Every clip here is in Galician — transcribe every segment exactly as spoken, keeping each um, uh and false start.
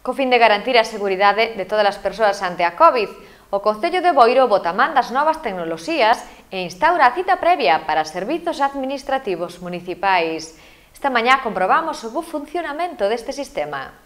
Co fin de garantir a seguridade de todas as persoas ante a COVID, o Concello de Boiro bota man das novas tecnoloxías e instaura a cita previa para servizos administrativos municipais. Esta mañá comprobamos o bo funcionamento deste sistema.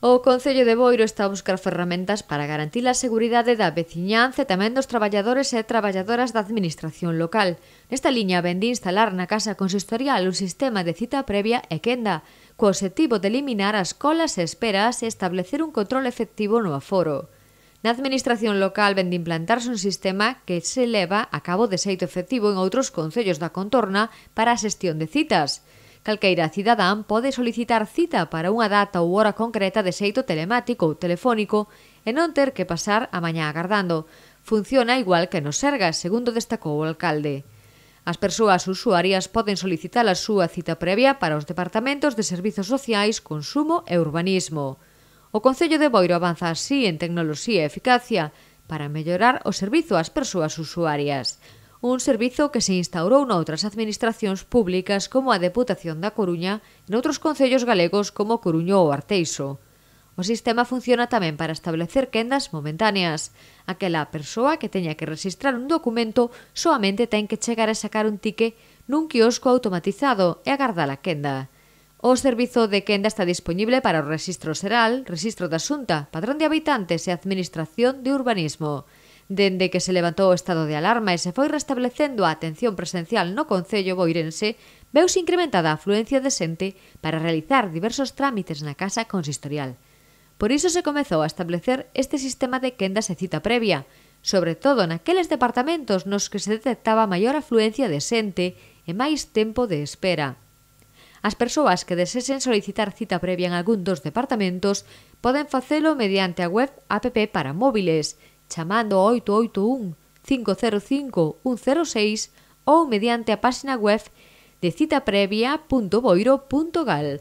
O Concello de Boiro está a buscar ferramentas para garantir a seguridade da veciñanza e tamén dos traballadores e traballadoras da administración local. Nesta liña vén de instalar na Casa Consistorial un sistema de cita previa e quenda, co obxectivo de eliminar as colas e esperas e establecer un control efectivo no aforo. Na administración local vén de implantarse un sistema que se leva a cabo de xeito efectivo en outros concellos da contorna para a xestión de citas. Calqueira cidadán pode solicitar cita para unha data ou hora concreta de xeito telemático ou telefónico e non ter que pasar a mañá agardando. Funciona igual que nos Sergas, segundo destacou o alcalde. As persoas usuarias poden solicitar a súa cita previa para os departamentos de Servizos Sociais, Consumo e Urbanismo. O Concello de Boiro avanza así en tecnoloxía e eficacia para mellorar o servizo ás persoas usuarias. Un servizo que se instaurou noutras administracións públicas como a Deputación da Coruña e noutros concellos galegos como Coruño ou Arteixo. O sistema funciona tamén para establecer quendas momentáneas. Aquela persoa que teña que rexistrar un documento soamente ten que chegar a sacar un tique nun quiosco automatizado e agardar a quenda. O servizo de quenda está disponible para o Rexistro Xeral, Rexistro da Xunta, Padrón de Habitantes e Administración de Urbanismo. Dende que se levantou o estado de alarma e se foi restablecendo a atención presencial no Concello boirense, veuse incrementada a afluencia de xente para realizar diversos trámites na Casa Consistorial. Por iso se comezou a establecer este sistema de quendas e cita previa, sobre todo naqueles departamentos nos que se detectaba maior afluencia de xente e máis tempo de espera. As persoas que desesen solicitar cita previa en algún dos departamentos poden facelo mediante a web app para móviles, chamando ao oito oito un, cinco cero cinco, un cero seis ou mediante a páxina web de citaprevia punto boiro punto gal.